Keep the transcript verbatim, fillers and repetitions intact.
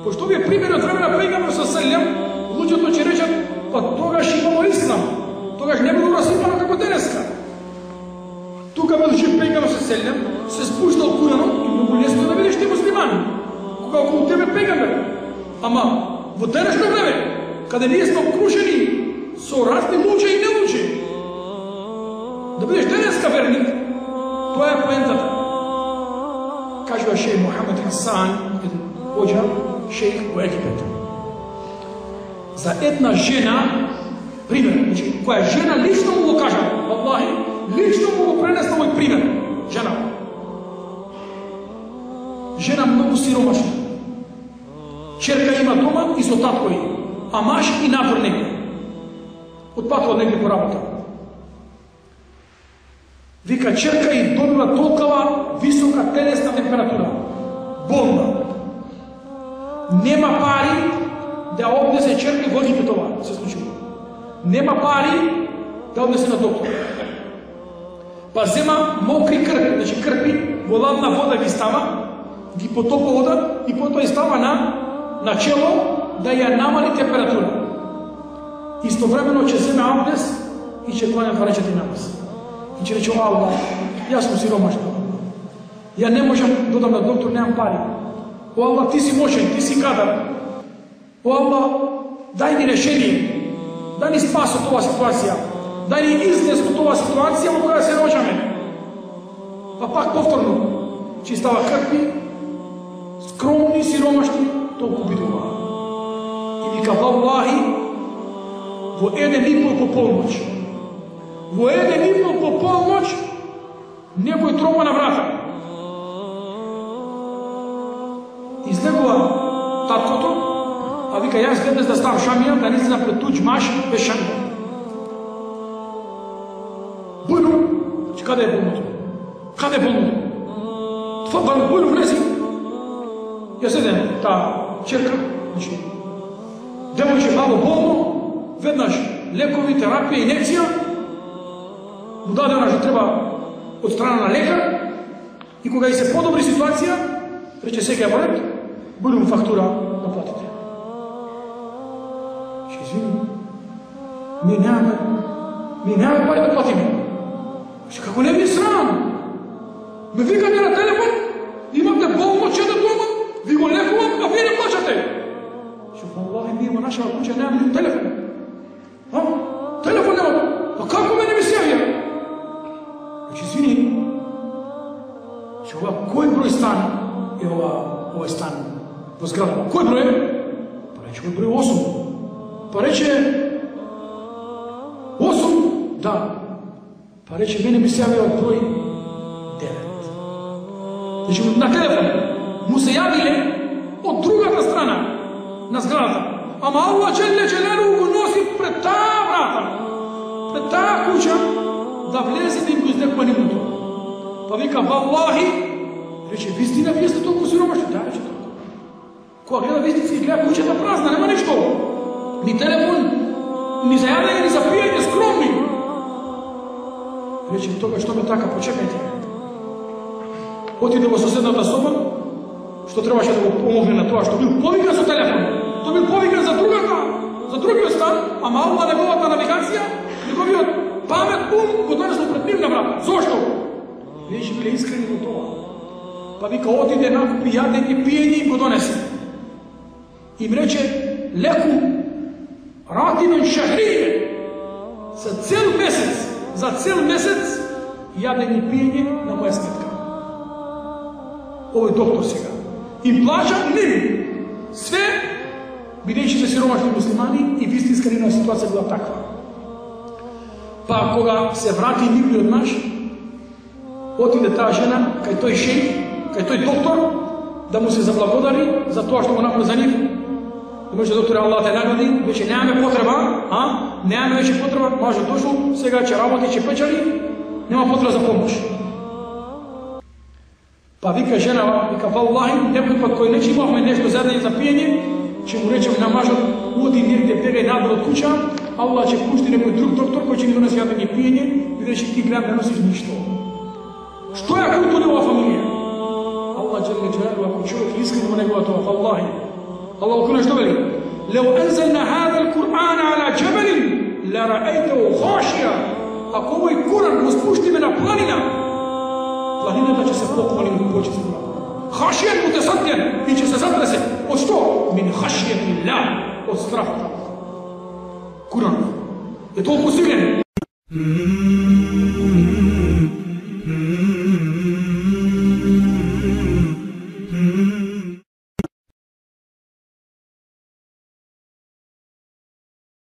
Пошто ви е пример од време на пејгамбер со селем, луѓето ќе речат, па тогаш имало ислам, тогаш не било расипано како денеска. Тука бидучи пејгамбер со селем, се спуштал Куранот и многу лесно да видиш ти муслимани, кога околу тебе пејгамбер. Ама во денешно време, каде ние сме окружени со разни луѓе и нелуѓе, да бидеш денеска верник, тоа е поентата. Кажува шејх Мухамед Хасан, еден хоџа, шејх во Египет. За една жена, пример, значи, која жена лично му го кажа, Аллахи, лично му го пренесла овој пример, жена. Жена многу сиромашна. Черка има дома и со татко и, а маж и надвор негде. Отпатува негде по работа. Вика, черка и добила толкова висока телесна температура. Болна. Нема пари да однесе черка во Египет, това се случило. Нема пари да однесе на доктор. Па зема мокри крпи, значи крпи, во ладна вода ги става, ги потопа вода и потоа става на на чело да ја намали температура. Истовремено ќе земе абдес и ќе кланя два речети намаз. И ќе рече, Аллах, јас сум сиромашна. Ја не можам да додам на доктор, немам пари. О Аллах, ти си мощен, ти си кадар. О Аллах, дај ни решение. Дај ни спас од оваа ситуација. Дај ни излез од оваа ситуација во која се наоѓаме. Па пак повторно, че става крпи, скромни, сиромашни, толку бидува. И вика, Валлахи, во еден и пол по полноќ, во еден и пол по полноќ, некој тропа на врата. Излегува таткото, а вика, јас веднаш да ставам шамија, да не се напред туѓ маш без шамија. Бујно, че каде е болното? Каде е болното? Това бујно влези. Јас еден, таа черка, значи, девојче малко болно, веднаш лекови, терапија, инекција, му дадена што треба од страна на лекар, и кога и се подобри ситуација, рече сега во ред, будем фактура да платите. Ще извини, ми нямаме, ми нямаме пари да платиме. Ще како не ви срам? Ме викате на телефон, имате болно чета дома, ви го лекувам, а вие не плачате. Ще Аллахи, ние во нашава куќа нямаме ни телефон. А? Телефон нема. А како ме не ми се јавија? Значи, извини, че ова кој број стан е ова, овој стан во зграда? Кој број е? Па рече кој број осум. Па рече осум? Да. Па рече мене ми се јавија од број девет. Значи, на телефон му се јавиле од другата страна на зградата. Ама Аллах Джелле Джелелу го носи пред таа врата, пред таа куќа, да влезе да им го издекува нивното. Па вика, Валлахи, рече, вистина, вие сте толку сиромашни. Да, рече толку. Кога гледа вистински, гледа куќата празна, нема ништо. Ни телефон, ни за јадење, ни за пиење, скромни. Рече, тога што ме така, почекајте. Отиде во соседната соба, што требаше да го помогне на тоа, што бил повикан со телефон. Тој бил повикан за другата, за другиот стан, ама Аллах неговата навигација, неговиот памет ум го донесло пред нивна врата. Зошто? Вие биле искрени во тоа. Па вика, отиде накупи јадење, пиење и го донесе. Им рече, леку ративен шахрије, за цел месец, за цел месец, јадење и пиење на моја сметка. Овој доктор сега. Им плача ним. Све, бидејќи се сиромашни муслимани и вистинска нивна ситуација била таква. Па кога се врати нивниот наш, отиде таа жена кај тој шејх, кај тој доктор, да му се заблагодари за тоа што го направи за нив. Да може доктор Аллах те награди, веќе немаме потреба, а? Немаме веќе потреба, може дошол, сега ќе работи, ќе печали, нема потреба за помош. Па вика жена, вика, Валлахи, некој пат кој не че имавме нешто за јадење за пиење, ќе му речем на мажот, оди негде, бегај надвор од куќа, Аллах ќе пушти некој друг доктор кој ќе ни донесе јадење и пиење, бидејќи ти гледам не носиш ништо. Што е култура ова фамилија? Аллах Джелле Джелелу, ако човек искрен во неговата ова, Аллахи, Allah u što veli? Leo anzalna hada al-Qur'ana ala jabalin la ra'aytahu khashiya. Ako ovaj Kur'an го спуштиме на планина, планината ќе се поклони му почести. Khashiyan mutasaddian, и ќе се затресе. Од што? Min khashyatillah, од страхот. Kur'an je толку силен.